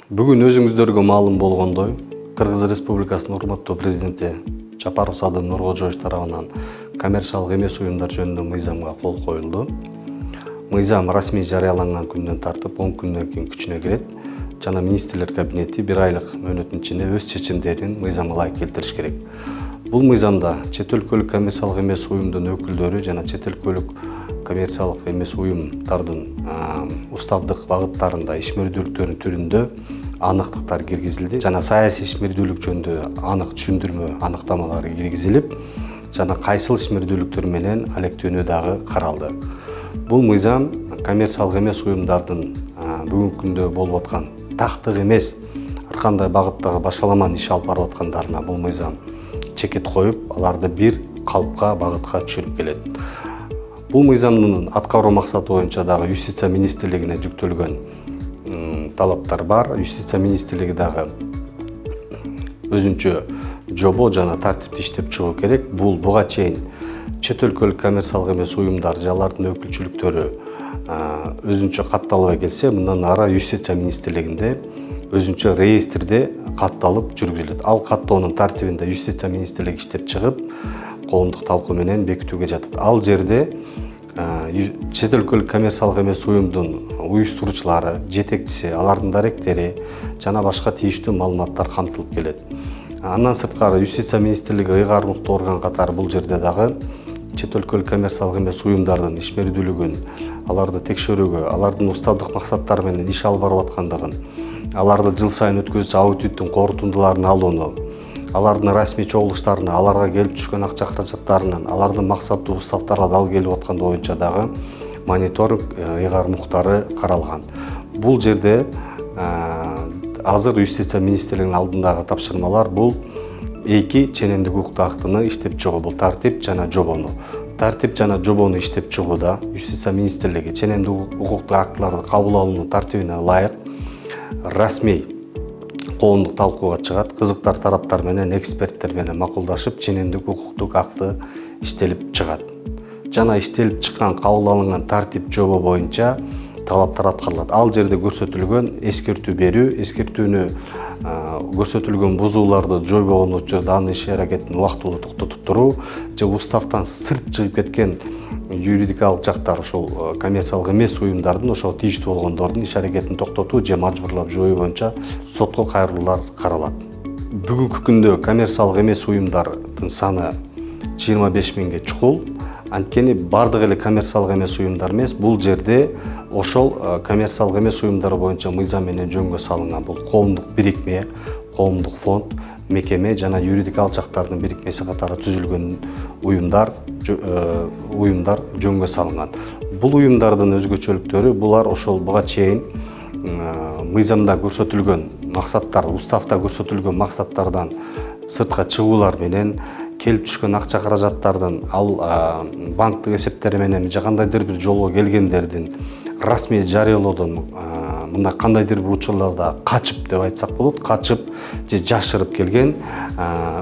Бүгүн өзүңүздөргө маалым болгондой, Кыргыз Республикасынын урматтуу президенти Жапаров Садыр Нуркожоевич тарабынан коммерциялык эмес уюмдар жөнүндө мыйзамга кол коюлду. Мыйзам расмий жарыяланган күндөн тартып 10 күндөн кийин күчүнө кирет жана министрлер кабинети 1 айлык мөөнөттүн ичинде өз чечимдерин мыйзамга ылайык келтириш керек. Бул мыйзамда чет өлкөлүк коммерциялык эмес уюмдун өкүлдөрү жана чет өлкөлүк коммерциялык эмес уюмдардын уставдык багыттарында ишмердүүлүктөрдүн түрүндө аныктыктар киргизилди жана саясий ишмердүүлүк жөнүндө анык түшүндүрмө аныктамалары киргизилип, жана кайсыл ишмердүүлүктөр менен алектенүү дагы каралды. Бул мыйзам коммерциялык эмес уюмдардын бүгүнкү күндө болуп аткан тактык эмес ар кандай багыттагы башаламан иш алып барып аткандарына бул мыйзам чекит коюп, аларды бир калыпка, багытка түшүрүп келет. Бул мыйзамдын аткаруу максаты боюнча дагы Юстиция министрлигине жүктөлгөн талаптар бар. Юстиция министрлиги дагы өзүнчө жобо жана тартипти иштеп чыгуу керек. Бул буга чейин чет өлкөлүк коммерциялык эмес уюмдар же алардын өкүлчүлүктөрү өзүнчө катталбай келсе, мындан ары Юстиция министрлигинде өзүнчө реестрде катталып жүргүзүлөт. Ал каттоонун тартибинде Юстиция министрлиги иштеп чыгып, коомдук талкуу менен бекитүүгө жатат. Ал жерде чет өлкөлүк коммерциялык эмес уюмдун уюштуруучулары, жетекчиси, алардын даректери жана башка тийиштүү маалыматтар камтылып келет. Андан сырткары Юстиция министрлиги ыйгар муктуу орган катары бул жерде дагы чет өлкөлүк коммерциялык эмес уюмдардын ишмердүүлүгүн, аларды текшерүүгө, алардын уставдык максаттар менен иш алып барып аткандыгын, аларды жыл сайын өткөзүүчү аудиттин корутундуларын алууну, алардын расмий чогулуштарына, аларга келип түшкөн акча каражаттарынын, алардын максаттуу уставдарга дал келип атканы боюнча дагы мониторинг ыйгар муктары каралган. Бул жерде азыр Юстиция министрлигинин алдындагы тапшырмалар бул эки ченемдик укуктуу актыны иштеп чыгуу, бул тартип жана жобону. Тартип жана жобону иштеп чыгууда Юстиция министрлиги ченемдик укуктуу актыларды кабыл алуунун тартибине ылайык расмий коомдук талкууга чыгат, кызыктар тараптар менен, эксперттер менен макулдашып, ченемдик укуктук акты иштелип чыгат. Жана иштелип чыккан, кабыл алынган тартип жобо боюнча талаптар аткарылат. Ал жерде көрсөтүлгөн эскертүү берүү, эскертүүнү көрсөтүлгөн бузууларды жойбогон учурда анын иш аракетин убактылуу токтотуп туруу же уставдан сырт чыгып кеткен юридикалык жактар, ошол коммерциялык эмес уюмдардын ошого тийиштүү болгондордун иш аракетин токтотуу же мажбурлап жоюу боюнча сотко кайрылуулар каралат. Бүгүнкү күндө коммерциялык эмес уюмдардын саны 25 миңге чукул. Анткени бардык эле коммерциялык эмес уюмдар эмес, бул жерде ошол коммерциялык эмес уюмдар боюнча мыйзам менен жөнгө салынган бул коомдук бирикме, коомдук фонд, мекеме жана юридикалык жактардын бирикмеси катары түзүлгөн уюмдар жөнгө салынган. Бул уюмдардын өзгөчөлүктөрү булар ошол буга чейин мыйзамда көрсөтүлгөн максаттар, уставда көрсөтүлгөн максаттардан сыртка чыгуулар менен келип түшкөн акча каражаттардын ал банктык эсептери менен же кандайдыр бир жолго келгендердин расмий жарыялоодон мындай кандайдыр бир учурларда качып деп айтсак болот, качып же жашырып келген,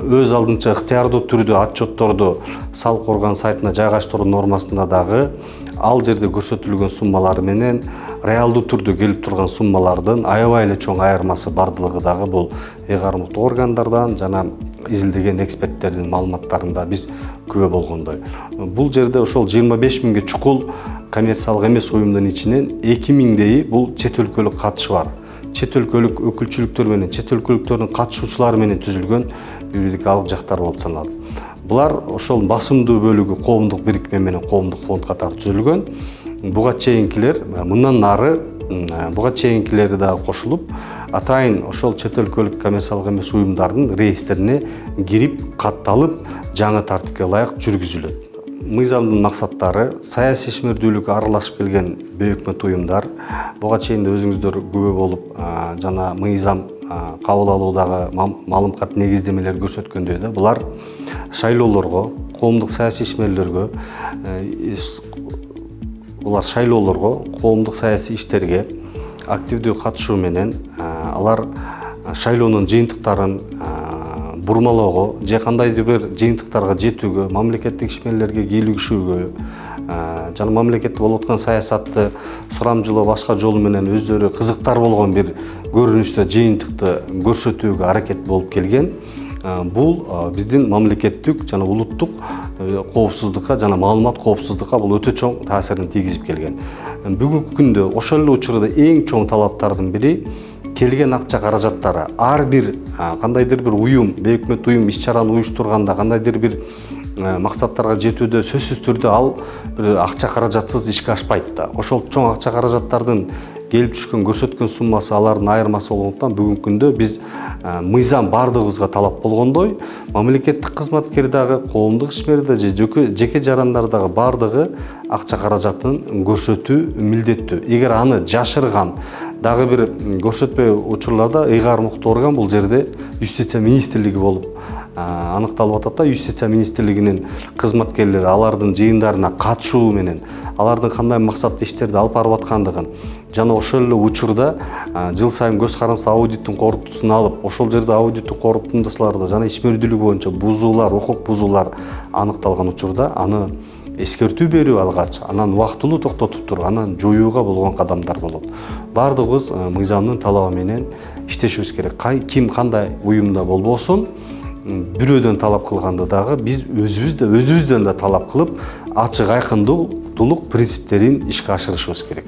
өз алдынча ыктыярдуу түрдө отчетторду салык орган сайтына жайгаштыруу нормасында дагы ал жерде көрсөтүлгөн суммалар менен реалдуу түрдө келип турган суммалардын аябай эле чоң айырмасы бардыгы дагы бул ыйгар муктуу органдардан жана изилдеген эксперттердин маалыматтарында биз күбө болгондой. Бул жерде ошол 25 миңге чукул коммерциялык эмес уюмдун ичинен 2 миңдейи бул чет өлкөлүк катышы бар. Чет өлкөлүк өкүлчүлүктөр менен, чет өлкөлүктөрдүн катышуучулары менен түзүлгөн юридикалык жактар болуп саналат. Булар ошол басымдуу бөлүгү коомдук бирикме менен коомдук фонд катары түзүлгөн. Буга чейинкилер мындан ары буга чейинкилери дагы кошулуп, атайын ошол чет өлкөлүк коммерциялык эмес уюмдардын реестрине кирип, катталып, жаңы тартипке ылайык жүргүзүлөт. Мыйзамдын максаттары саясий ишмердүүлүккө аралашып келген бейөкмөт уюмдар, буга чейин өзүңүздөр күбө болуп жана мыйзам кабыл алуудагы маалымат негиздемелер көрсөткөндөй да, булар шайлоолорго, коомдук саясий ишмерлерге, булар шайлоолорго, коомдук саясий иштерге активдүү катышуу менен алар шайлоонун жыйынтыктарын бурмалоого же кандайдыр бир жыйынтыктарга жетүүгө, мамлекеттик ишмерлерге кийлигишүүгө жана мамлекетте болуп аткан саясатты сурамжылоо башка жолу менен өздөрү кызыктар болгон бир көрүнүштө жыйынтыкты көрсөтүүгө аракет болуп келген. Бул биздин мамлекеттик жана улуттук коопсуздукка жана маалымат коопсуздукка бул өтө чоң таасирин тийгизип келген. Бүгүнкү күндө ошол эле учурда эң чоң талаптардын бири келген акча каражаттары ар бир кандайдыр бир уюм, бейөкмөт уюм иш-чараны уюштурганда, кандайдыр бир максаттарга жетүүдө сөзсүз түрдө ал бир акча каражатсыз ишке ашпайт да. Ошол чоң акча каражаттардын келип түшкөн көрсөткөн суммасы алардын айырмасы болгондуктан бүгүнкү күндө биз мыйзам бардыгыбызга талап болгондой, мамлекеттик кызматкер дагы, коомдук ишмер да же жеке жарандар дагы бардыгы акча каражатын көрсөтүү милдеттүү. Эгер аны жашырган дагы бир көрсөтпөй учурларда ыйгармыктуу орган бул жерде Юстиция министрлиги болуп аныкталып атат да. Юстиция министрлигинин кызматкерлери алардын жыйындарына катышуу менен алардын кандай максатта иштерди алып барып аткандыгын жана ошол эле учурда жыл сайын көз каранса аудиттин корутуусун алып, ошол жерде аудиттин корутундасыларда жана ишмердүүлүк боюнча бузуулар, укук бузуулар аныкталган учурда аны эскертүү берүү алгач, анан убактылуу токтотуп туруп, анан жоюуга болгон кадамдар болот. Бардыгыбыз мыйзамдын талабы менен иштешибиз керек. Ким кандай уюмда болбосун, бирөөдөн талап кылганды дагы биз өзүбүздөн да талап кылып, ачык айкындуулук принциптерин ишке ашырышыбыз керек.